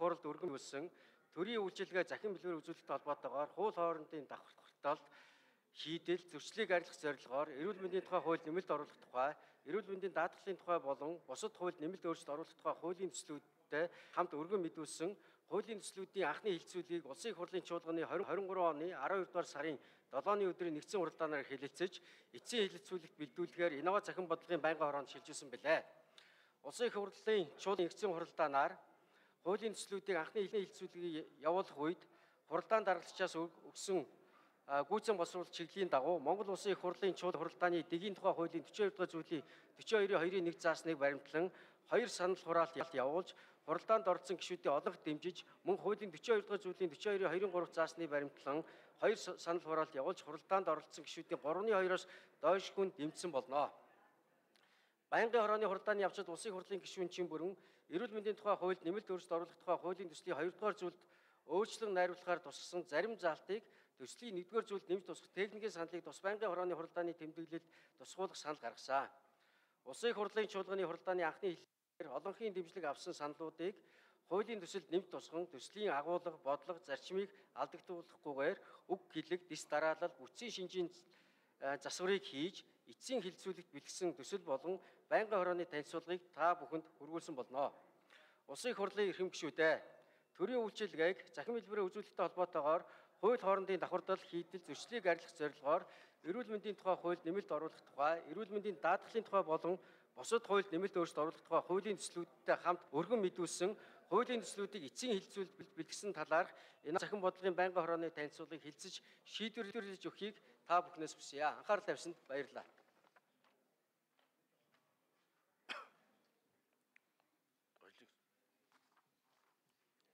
хуралд өргөн үлсэн төрийн үйлчилгээ захин бэлгээр үзүүлэлттэй холбоотойгоор хууль хоорондын давхарталт шийдэл зөрчлийг арилгах зорилгоор эрүүл мэндийн тухай хууль нэмэлт оруулах тухай, эрүүл мэндийн даатгалын тухай болон бусад хууль нэмэлт өөрчлөлт оруулах тухай хуулийн төслүүдтэй хамт өргөн мэдүүлсэн хуулийн төслүүдийн анхны хилцүүлгийг Улсын их хурлын чуулганы 2023 оны 12 дугаар сарын 7-ны өдрийн нэгдсэн уралдаанаар хэлэлцэж, эцсийн хэлэлцүүлэгт бэлдүүлэхээр инновац захин бодлогын байнгын хороонд шилжүүлсэн билээ. Улсын их хурлын чуулганы нэгдсэн уралдаанаар хуулийн төслүүдийн анхны хэлэлцүүлгийг явуулах үед хуралдаан даргалзчаас өгсөн гүйцэн боловсруулалт чиглэлийн дагуу Монгол Улсын их хурлын чуулган хуралдааны дэгийн тухай хуулийн 42 дугаар зүйлийн 42-2-1 заасныг баримтлан 2 санал хураалт явуулж хуралдаанд оролцсон гишүүдийн олонх дэмжиж мөн хуулийн 42 дугаар зүйлийн 42-2-3 заасныг баримтлан 2 санал хураалт явуулж хуралдаанд оролцсон гишүүдийн 3/2-оос доош хүн дэмжсэн болно. Байнгын хорооны хуралдааны явцад Улсын их хурлын гишүүн чин бүрэн эрүүл мэндийн тухай хуульд нэмэлт өөрчлөлт оруулах тухай хуулийн төслийн 2 дугаар зүйлд өөрчлөн найруулахаар тусгасан зарим заалтыг төслийн 1 дугаар зүйлд нэмж тусгах техникийн саналыг тус байнгын хорооны хуралдааны тэмдэглэлд тусгуулах санал гаргасан. Улсын их хурлын чуулганы хуралдааны анхны хэлэлцээр олонхын дэмжлэг авсан саналуудыг хуулийн төсөлд нэмж тусган төслийн агуулга, бодлого, зарчмыг алдагдуулахгүйгээр үг хэлэг, дэс дараалал, бүтцийн шинжийн засварыг хийж эцсийн хэлэлцүүлэгт бэлтгэсэн төсөл болон байнгын хорооны танилцуулгыг та бүхэнд хүргүүлсэн болно. Улсын их хурлын эрхэм гишүүдээ төрийн үйлчилгээг захин хэлбэрээр үзүүлэлттэй холбоотойгоор хууль хоорондын давхардал хийдэл зөрчлийг арилгах зорилгоор эрүүл мэндийн тухай хууль нэмэлт оруулах тухай, эрүүл мэндийн даатгалын тухай болон бусад хууль нэмэлт өөрчлөлт оруулах тухай хуулийн төслүүдтэй хамт өргөн мэдүүлсэн хуулийн төслүүдийг эцсийн хэлэлцүүлэлт бэлтгэсэн талаарх энэ захин бодлогын байнгын хорооны танилцуулгыг хэлцэж шийдвэрлэж өгөхийг та бүхнээс хүсье. Анхаарал тавьсанд баярлалаа.